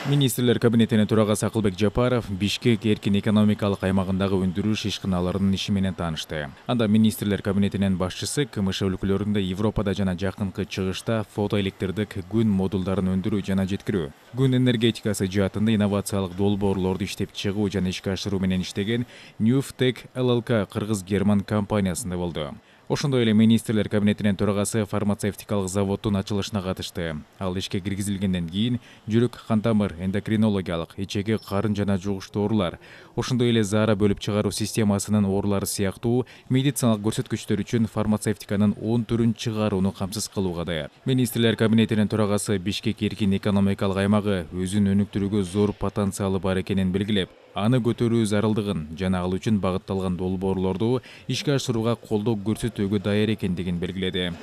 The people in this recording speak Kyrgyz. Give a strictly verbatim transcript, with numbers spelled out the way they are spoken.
Министрлер кабинетинин төрагасы Акылбек Жапаров Бишкек эркин экономикалык аймагындагы өндүрүш ишканаларынын иши менен таанышты. Анда министрлер кабинетинин башчысы КМШ өлкөлөрүндө Европада жана жакынкы чыгышта фотоэлектрдик күн модулдарын өндүрүү жана жеткирүү, күн энергетикасы жаатында инновациялык долбоорлорду иштеп чыгуу жана ишке ашыруу менен иштеген Newftech Л Л К кыргыз-герман компаниясында болду. Ошондой эле министрлер кабинетинин төрагасы фармацевтикалык заводдун ачылышына катышты. Ал ишке киргизилгенден кийин жүрөк, кан тамыр, эндокринологиялык, ичеги, карын жана жугуштуу оорулар, ошондой эле заара бөлүп чыгаруу системасынын оорулары сыяктуу медициналык көрсөткүчтөр үчүн фармацевтиканын он түрүн чыгарууну камсыз кылууга даяр. Министрлер кабинетинин төрагасы Бишкек эркин экономикалык аймагы өзүн өнүктүрүүгө зор потенциалы бар экенин белгилеп, аны көтөрүү зарылдыгын жана ал үчүн багытталган долбоорлорду ишке ашырууга колдоо көрсөтүүгө даяр экендигин белгиледи.